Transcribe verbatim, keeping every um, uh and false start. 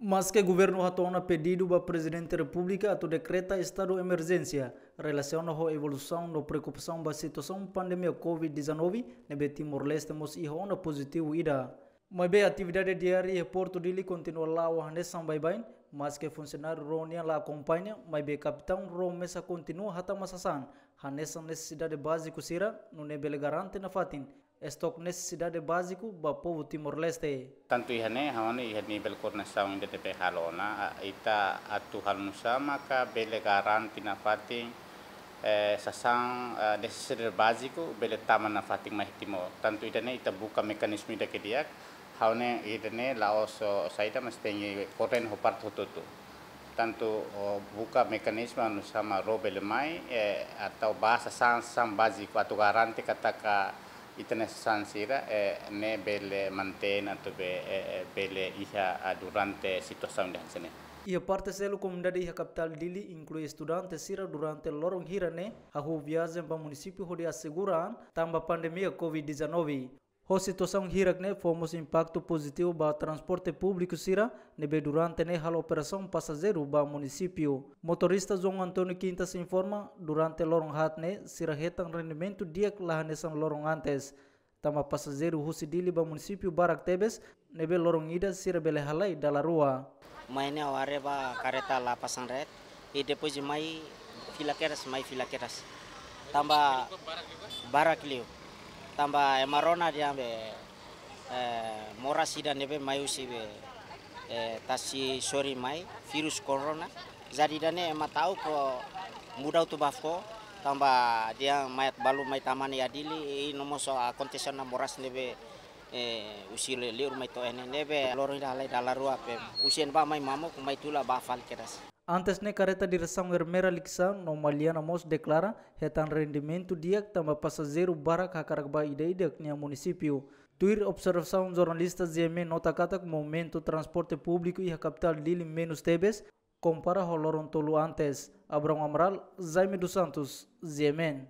Maske governu hato'o ona pedidu ba Prezidente Repúblika atu dekreta estadu emerjénsia relasiona ho evolusaun no preokupasaun ba situasaun pandemia covid dezanove ne'ebé Timor-Leste mós iha ona pozitivu ida. Maibé atividade diária iha Portu Dili kontinua la'o hanesan baibain, maske funsionáriu rua nian la akompaña, maibé kapitaun rua mesak kontinua hatama sasán hanesan nesesidade báziku sira, nune'e bele garante nafatin estok nesesidade báziku ba povu Timor-Leste. Tantu iha ne'e, ha'u hanoin iha nivel koordenasaun ida ne'ebé halo ona, a, ita atu halo nusá maka bele garante nafatin, eh, sasán, eh, nesesidade báziku bele tama nafatin mai Timor. Tantu ida-ne'e ita buka mekanizmu ida ke di'ak, ha'u hanoin ida-ne'e la'ós saida, mas tenke koordena ho parte hotu-hotu. Tantu, o, buka mekanizmu anu sama rua bele mai, eh, atu ba sasán, sasán báziku atu garante katak ita-nia sasán sira, eh, ne'e bele mantein atu be, eh, eh, bele iha, ah, durante situasaun ida hanesan ne'e. Iha parte seluk, komunidade iha kapitál Dili, inklui estudante sira, durante loron hira ne'e hahú viajen ba munisípiu hodi asegura an tanba pandemia covid dezanove. Ho situasaun hirak ne'e fó mós impaktu pozitivu ba transporte públiku sira ne'ebé durante ne'e halo operasaun pasajeiru ba munisípiu. Motorista João António Quintas informa, durante loron haat ne'e sira hetan rendimentu di'ak la hanesan loron antes. Tanba pasajeiru husi Dili ba munisípiu barak tebes, ne'ebé loron ida sira bele halai dala rua. Mai ne'e ha'u haree ba kareta la pasang ret, i depois de mai fila kedas, mai fila kedas. Tanba barak liu. Tanba ema rona dehan be, eh, moras ida ne'ebé mai husi be, eh, tasi sorin mai, virus corona. Jadi ida-ne'e ema ta'uk muda utu ba fó, tanba dehan mai balu mai tama iha Dili, i no mós akontese ona moras ne'ebé, eh, husi le-, liur mai to'o iha ne'e, ne'ebé loron ida halai dala rua pe. Husi ne'ebá mai mamuk, mai tula ba fali kedas. Antes ne'e kareta diresaun Ermera Likisá no Maliana mós deklara hetan rendimentu di'ak tanba pasajeiru barak hakarak ba ida-idak nia munisípiu. Tuir observasaun jornalista, G M N nota katak movimentu transporte públiku iha kapitál Dili menus tebes kompara ho loron tolu antes. Abrão Amaral, Jaime dos Santos, G M N.